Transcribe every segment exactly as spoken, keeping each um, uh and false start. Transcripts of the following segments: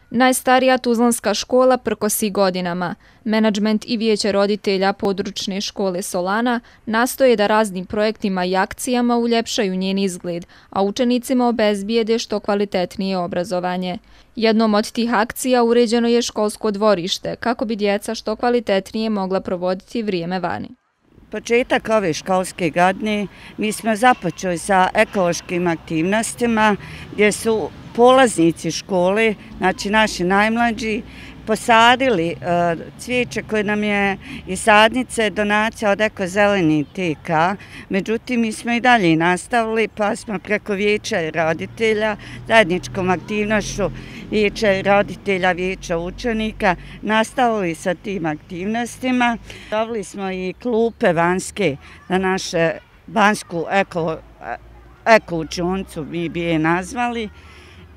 Najstarija tuzlanska škola prkosi godinama. Menadžment i vijeće roditelja područne škole Solana nastoje da raznim projektima i akcijama uljepšaju njen izgled, a učenicima obezbijede što kvalitetnije obrazovanje. Jednom od tih akcija uređeno je školsko dvorište, kako bi djeca što kvalitetnije mogla provoditi vrijeme vani. Početak ove školske godine mi smo započeli sa ekološkim aktivnostima gdje su polaznici škole, znači naši najmlađi, posadili cvijeće koje nam je iz sadnice donacija od Eko Zeleni T K. Međutim, mi smo i dalje nastavili, pa smo preko vijeća roditelja, zajedničkom aktivnošću vijeća roditelja, vijeća učenika, nastavili sa tim aktivnostima. Dobili smo i klupe vanjske za naše vanjsku eko, eko učioncu, mi bi je nazvali.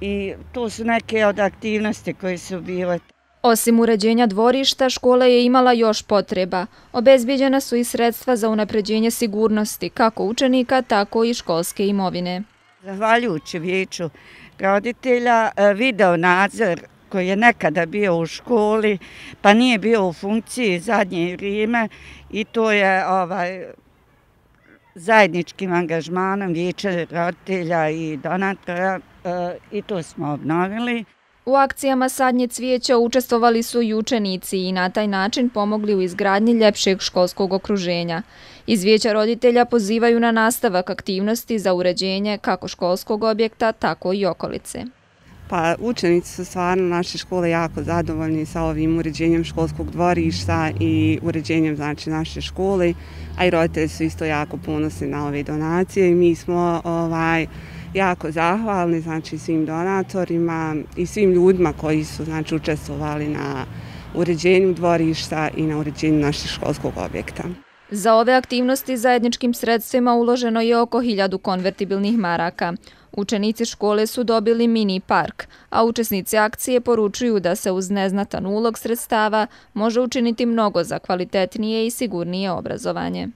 I to su neke od aktivnosti koje su bile. Osim uređenja dvorišta, škola je imala još potreba. Obezbijeđena su i sredstva za unapređenje sigurnosti, kako učenika, tako i školske imovine. Zahvaljujući vijeću roditelja, video nadzor koji je nekada bio u školi, pa nije bio u funkciji zadnje vrijeme i to je ovaj, zajedničkim angažmanom vijeća roditelja i donatora i to smo obnovili. U akcijama sadnje cvijeća učestvovali su i učenici i na taj način pomogli u izgradnji ljepšeg školskog okruženja. Iz vijeća roditelja pozivaju na nastavak aktivnosti za uređenje kako školskog objekta, tako i okolice. Pa učenici su stvarno naše škole jako zadovoljni sa ovim uređenjem školskog dvorišta i uređenjem znači naše škole, a i roditelji su isto jako ponosni na ove donacije i mi smo ovaj jako zahvalni znači svim donatorima i svim ljudima koji su znači učestvovali na uređenju dvorišta i na uređenju našeg školskog objekta. Za ove aktivnosti zajedničkim sredstvima uloženo je oko hiljadu konvertibilnih maraka. Učenici škole su dobili mini park, a učesnici akcije poručuju da se uz neznatan ulog sredstava može učiniti mnogo za kvalitetnije i sigurnije obrazovanje.